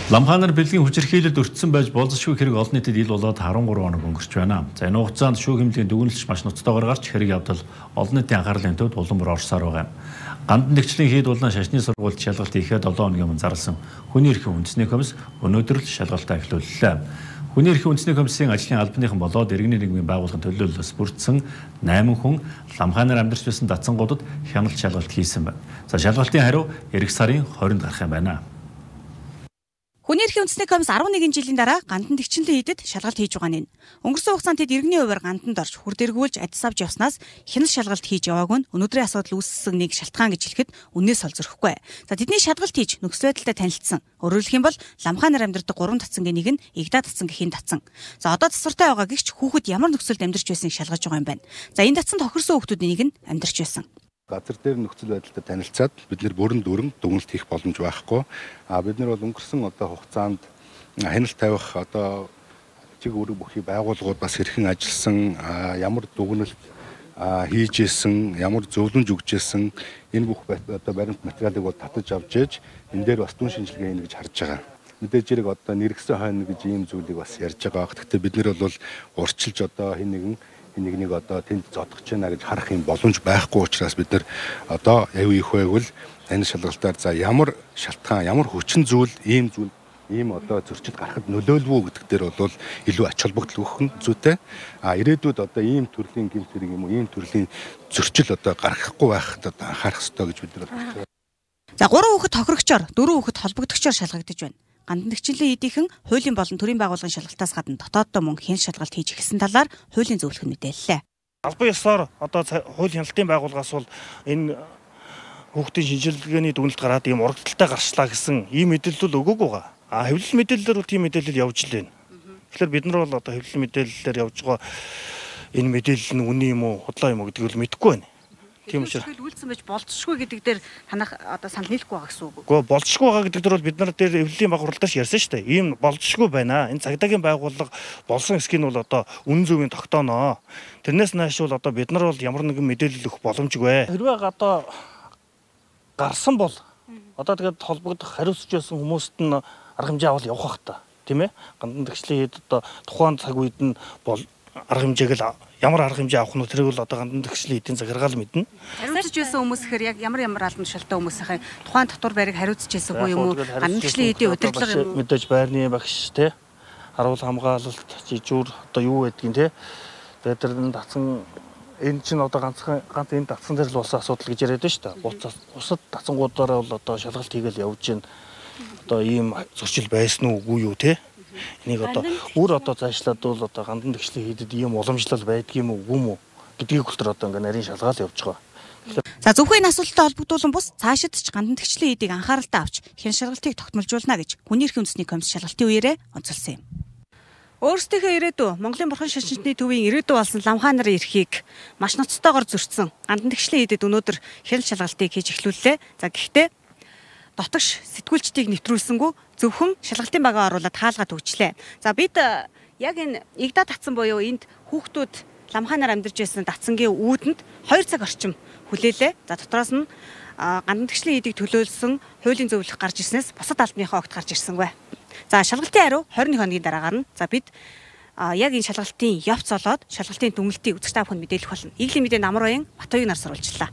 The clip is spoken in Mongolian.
Ламхаанаар бэлгийн хүчирхийлэлд өртсөн байж болзошгүй хэрэг олон нийтэд ил болоод 13 хоног өнгөрч байна. За энэ хугацаанд шүүх хэмжээний дүгнэлт маш ноцтойгоор гарч хэрэг явдал олон нийтийн анхаарлын төвд улам бүр орсоор байгаа юм. Гандан нэгжлийн хэд болон шашны сургуульд шалгалт хийхэд 7 хоногийн өмнө зарласан хүний эрхийн үндэсний комисс өнөөдөр л шалгалтаа эхлүүллээ. Хүний эрхийн үндэсний комиссийн ажлын албаныхан болоод иргэний нийгмийн байгууллагын төлөөллөөс бүрдсэн 8 хүн Ламхаанаар амьдарч байсан датсангуудад хяналт шалгалт хийсэн байна. За шалгалтын хариу эх сарын 20-нд гарах юм байна. Хүний эрхийн үндэсний комисс 11 жилийн дараа гандан тэгчинлэн хийдэд шалгалт хийж байгаа нь. Өнгөрсөн хугацаанд тэд иргэний хувьар ганданд орж хүрдэргүүлж адис авч явснаас хяналт шалгалт хийж яваагүй нь өнөөдрийн асуудал үүссэн нэг шалтгаан гэж хэлэхэд үннээс ол зөрөхгүй. За тэдний шалгалт хийж нөхцөл байдалтай танилцсан. Өөрөөр хэлэх юм бол Ламхаанаар амьдардаг 3 татсангийн нэг нь Игдаа татсангийн татсан. За одоо тасвартай байгаа гэгч хүүхэд ямар нөхцөлд амьдарч байсныг шалгаж байгаа юм байна. За энэ татсан тохирсон хүүхдүүдийн нэг нь амьдарч байсан. Газар дээр нөхцөл байдалтай танилцаад бид нэр бүрэн дүрэн дүгнэлт хийх боломж байхгүй. Бид нар бол өнгөрсөн хугацаанд хяналт тавих чиг үүрэг бүхий байгууллагууд бас хэрхэн ажилласан, ямар дүгнэлт хийж исэн, ямар зөвлөмж өгч исэн энэ бүх баримт материалыг бол татаж авч ээж энэ дээр бас дүн шинжилгээ хийнэ гэж харж байгаа. Мэдээж хэрэг нэргсэн хойно гэж ийм зүйлийг бас ярьж байгаа. Гэхдээ бид нар бол урьдчилж хин нэгнийг тэнд зодгож байна гэж харах юм боломж байхгүй учраас бид нар аюу их байвал энэ шалгалтаар за ямар шалтгаан, ямар хүчин зүйл, ийм зөрчил гарахад нөлөөлвөө гэдэг дээр бол илүү ач холбогдол өгөх нь зүйтэй. Ирээдүйд ийм төрлийн гэмт хэрэг юм уу, ийм төрлийн зөрчил гарахгүй байхад анхаарах ёстой гэж бид нар бодож байна. За 3 хүүхэд тохирогчоор, 4 хүүхэд холбогдогчоор шалгагдаж байна. Гандан тэгчинлэн эдийнхэн хуулийн болон төрийн байгууллагын шалгалтаас гадна дотооддоо мөн хяналт шалгалт хийж эхэлсэн талаар хуулийн зөвлөх нь мэдээллээ. Албан ёсоор хууль хяналтын байгууллагаас бол энэ хүүхдийн шинжилгээний дүгнэлт гараад ийм урагдaltaй гарчлаа гэсэн ийм мэдээлэл өгөөгүй байгаа. Хэвлэл мэдээллээр бол тийм мэдээлэл явж л байна. Тэгэхээр бид нар бол хэвлэл мэдээллээр явж байгаа энэ мэдээлэл нь үнэн юм уу, худлаа юм уу гэдгийг л мэдэхгүй байна. Тийм учраас үйлдсэн байж болцсохгүй гэдэг дээр танах санал нийлэхгүй байгаа гэсэн үг. Гэхдээ болцсохгүй байгаа гэдэг дээр бол бид нар дээр эвлэлийн байгууллагаас ярьсан шүү дээ. Ийм болцсохгүй байна. Энэ цагдаагийн байгууллага болсон эсхийг нь бол үнэн зөвийн тогтооноо. Тэрнээс нааш бол бид нар бол ямар нэгэн мэдээлэл өгөх боломжгүй. Хэрвээ гарсан бол тэгээд холбогдох хариуцж байсан хүмүүст нь арга хэмжээ авал явах бах та. Тийм ээ? Гандан тэгчлийн хэд тухайн цаг үед нь бол арга хэмжээг л ямар арга хэмжээ авах нь тэрийг бол гандан тэгчлийн эдийн захиргаал мэднэ. Хариуцж байсан хүмүүс гэхээр яг ямар албан тушаалтай хүмүүс ахын тухайн татвар барийг хариуцж байсангүй юм уу? Гандан тэгчлийн эдийн удирдлага мэдээж байрны багш те харуул хамгаалалт жижүүр юу байдгийг те тэгээд тэр татсан энэ чинь ганц энэ татсан дээр л болсон асуудал гэж яриад байна шүү дээ. Бусад татсангуудаараа бол шалгалт хийгээл явж байна. Ийм зөрчил байсан уугүй юу те? Энийг өөр цаашлаад бол гандан тэгчлийн хийдэд ийм уламжлал байдгийм үү, үгүй юм уу гэдгийг хүртэл ингээ нарийн шалгаал явж байгаа. За зөвхөн энэ асуудалтай холбогдуулан бус цаашид ч гандан тэгчлийн хийдийг анхааралтай авч хяналт шалгалтыг тогтмолжуулна гэж Хүний эрхийн үндэсний комисс шалгалтын үеэрээ онцолсон юм. Өөрсдийнхөө ирээдүй Монголын бурхан шашинчны төвийн ирээдүй болсон Ламхаанаар эрхийг маш ноцтойгоор зөрчсөн гандан тэгчлийн хийдэд өнөөдөр хяналт шалгалтыг хийж эхлүүллээ. За гэхдээ дотогш сэтгүүлчдийг нэвтрүүлсэнгүй зөвхөн шалгалтын багаа оруулаад хаалгаа төгжлээ. За бид яг энэ Игдаа татсан буюу энд хүүхдүүд Ламхаанаар амьдарч байсан татсангийн үүдэнд 2 цаг орчим хүлээлээ. За дотроос нь гандан тэгчлийн хийдийг төлөөлсөн хуулийн зөвлөх гарч ирснээс бусад албаныхаа огт гарч ирсэнгүй. За шалгалтын хариу 21 хоногийн дараа гарна. За бид яг энэ шалгалтын явц олоод шалгалтын дүгнэлтийг үзэгч та бүхэнд мэдээлэх болно. Иглийн мэдээ Намар Баян Батбаяг нар сурвалжлаа.